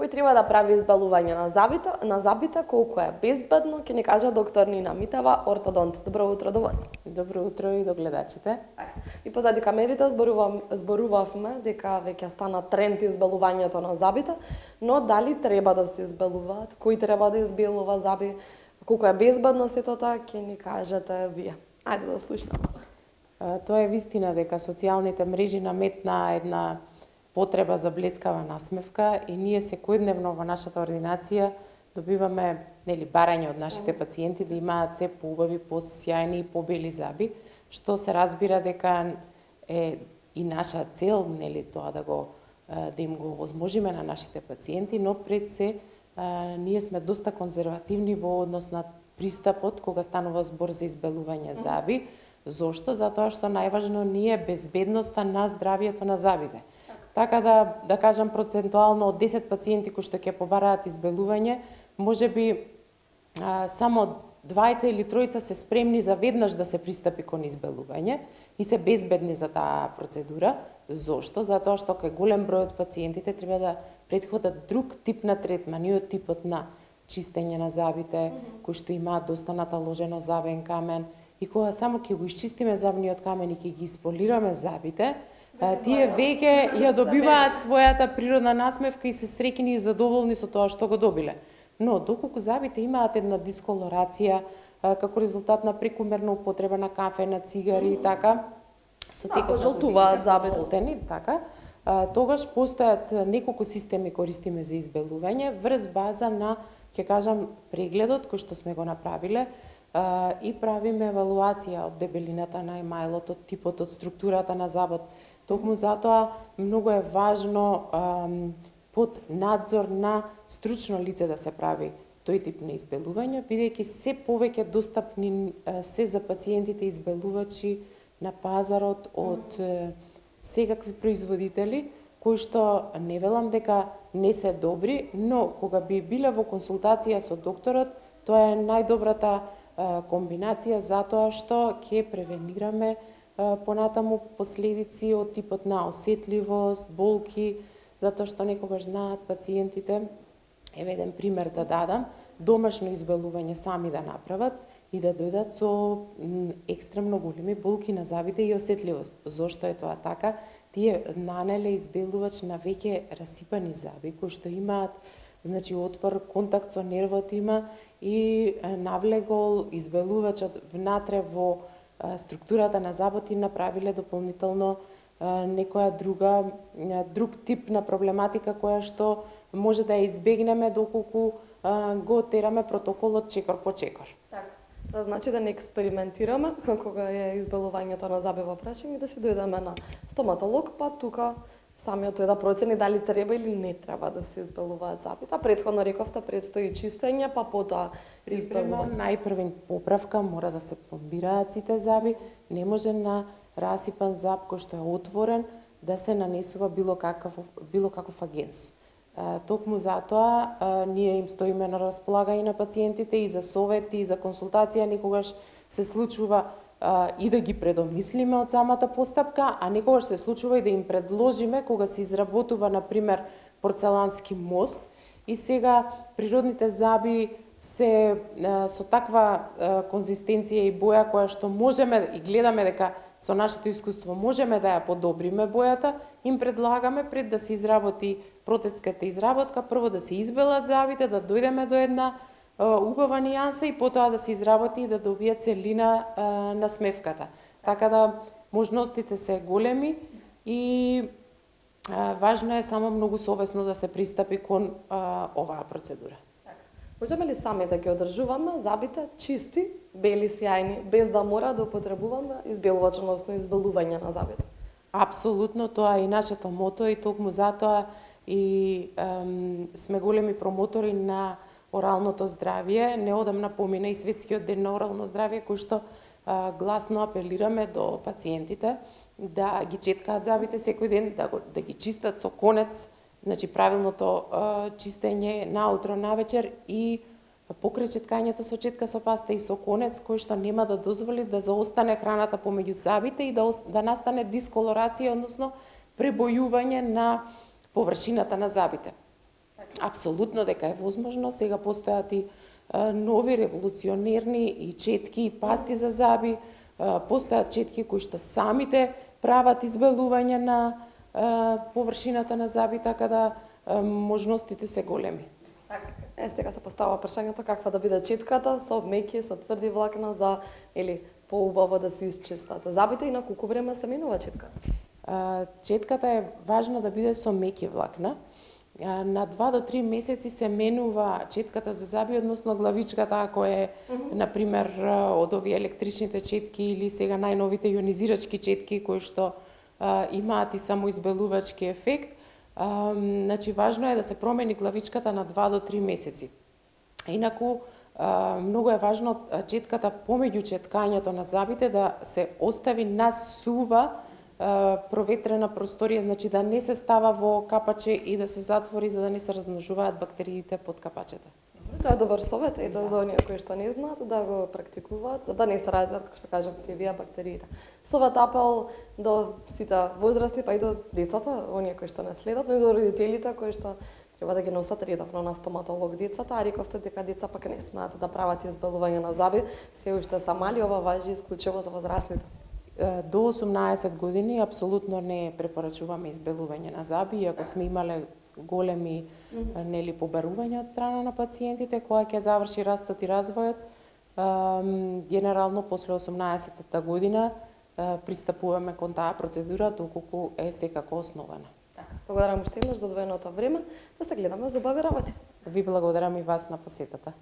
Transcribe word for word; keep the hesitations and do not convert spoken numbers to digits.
кој треба да прави избелување на зубите, на зубите, колку е безбедно, ќе ни каже доктор Нина Митева, ортодонт. Добро утро до вас. Добро утро и до гледачите. И позади камерите зборувам, зборувавме дека веќе стана тренд избелувањето на зубите, но дали треба да се избелуваат, кој треба да избелува зуби, колку е безбедно сето тоа, ќе ни кажете вие. Ајде да слушнеме. Тоа е вистина дека социјалните мрежи наметна една потреба за блескава насмевка и ние секојдневно во нашата ординација добиваме нели барање од нашите пациенти да имаат се поубави, посјајни и побели зуби, што се разбира дека е и наша цел нели тоа да го да им го овозможиме на нашите пациенти, но пред се ние сме доста конзервативни во однос на пристапот кога станува збор за избелување зуби. Зошто? Затоа што најважно ни е безбедноста на здравието на зубите. Така да, да кажам, процентуално од десет пациенти кои што ќе побараат избелување, може би а, само двајца или тројца се спремни за веднаш да се пристапи кон избелување и се безбедни за таа процедура. Зошто? Затоа што кај голем број од пациентите треба да претходат друг тип на третман и од типот на чистење на зубите, mm -hmm. кои што имаат доста наталожено зубен камен, и кога само ќе го исчистиме зубниот камен и ќе ги исполираме зубите, тие веќе ја добиваат својата природна насмевка и се среќни и задоволни со тоа што го добиле. Но доколку зубите имаат една дисколорација како резултат на прекумерна употреба на кафе, на цигари и така, со текот жолтуваат зубите, така, тогаш постојат неколку системи користиме за избелување врз база на, ќе кажам, прегледот кој што сме го направиле и правиме евалуација од дебелината на емајлот, од типот, од структурата на зубот. Токму затоа многу е важно ам, под надзор на стручно лице да се прави тој тип на избелување, бидејќи се повеќе достапни се за пациентите избелувачи на пазарот од mm. секакви производители, кои што не велам дека не се добри, но кога би биле во консултација со докторот, тоа е најдобрата комбинација затоа што ќе превенираме понатаму последици од типот на осетливост, болки, затоа што некогаш знаат пациентите, еве еден пример да дадам, домашно избелување сами да направат и да дојдат со екстремно големи болки на зубите и осетливост. Зошто е тоа така? Тие нанеле избелувач на веќе расипани зуби кои што имаат, значи отвор, контакт со нервот има и навлегол избелувачот внатре во структурата на зубот и направиле дополнително некоја друга, друг тип на проблематика која што може да ја избегнеме доколку го тераме протоколот чекор по чекор. Така. Тоа значи да не експериментираме кога е избелувањето на зуби во прашање, да си дојдеме на стоматолог, па тука самиот тој да процени дали треба или не треба да се избелуваат зубите. Претходно рековте предстои чистење, па потоа избелување. Најпрвен поправка мора да се пломбираат сите зуби, не може на расипан зуб кој што е отворен да се нанесува било каков било каков агенс. Токму затоа а, ние им стоиме на располагање на пациентите и за совети и за консултација, некогаш се случува а, и да ги предомислиме од самата постапка, а некогаш се случува и да им предложиме кога се изработува на пример порцелански мост и сега природните зуби се а, со таква а, конзистенција и боја која што можеме и гледаме дека со нашето искуство можеме да ја подобриме бојата, им предлагаме пред да се изработи протезската изработка, прво да се избелат зубите, да дојдеме до една а, убава нијанса и потоа да се изработи и да добие целина а, на смевката. Така да можностите се големи и а, важно е само многу совесно да се пристапи кон а, оваа процедура. Можеме ли сами да ги одржуваме зубите чисти, бели, сјајни, без да мора да употребуваме избелувач, односно избелување на зубите? Апсолутно, тоа е и нашето мото и токму затоа и ем, сме големи промотори на оралното здравје. Неодамна помина и Светскиот ден на орално здравје, кој што а, гласно апелираме до пациентите да ги четкаат зубите секој ден, да, го, да ги чистат со конец, значи правилното а, чистење наутро, навечер и покрај четкањето со четка со паста и со конец, кој што нема да дозволи да заостане храната помеѓу зубите и да, да настане дисколорација, односно пребојување на површината на зубите. Апсолутно дека е возможно. Сега постојат и нови револуционерни и четки и пасти за зъби. Постојат четки кои што самите прават избелување на површината на зъби, така да можностите се големи. Е, сега се постава прашањето каква да биде четката, со меки, со тврди влакна, за или поубаво да се исчистат зъбите и на колку време се менува четката? Четката е важно да биде со меки влакна. На два до три месеци се менува четката за зъби, односно главичката, ако е, mm -hmm. например, од овие електричните четки или сега најновите ионизирачки четки кои што а, имаат и самоизбелувачки ефект. А, значи, важно е да се промени главичката на два до три месеци. Инаку, а, многу е важно четката помеѓу четкањето на зъбите да се остави на сува проветрена просторија, значи да не се става во капаче и да се затвори за да не се размножуваат бактериите под капачето. Тоа е добар совет, ето за оние кои што не знаат да го практикуваат, за да не се развијат, како што кажавте, вие бактериите. Совет апел до сите возрастни, па и до децата, оние кои што не следат, но и до родителите кои што треба да ги носат редовно на стоматолог децата, а рековте дека деца пак не смеат да прават избелување на зъби, се уште са мали, ова важи исклучиво за возрастните. До осумнаесет години апсолутно не препорачуваме избелување на зъби, иако сме имале големи mm -hmm. нели побарувања од страна на пациентите кога ќе заврши растот и развојот. Генерално после осумнаесеттата година пристапуваме кон таа процедура доколку е секако основана. Благодарам уште еднаш за одвоеното време, да се гледаме за убави работи. Ви благодарам и вас на посетата.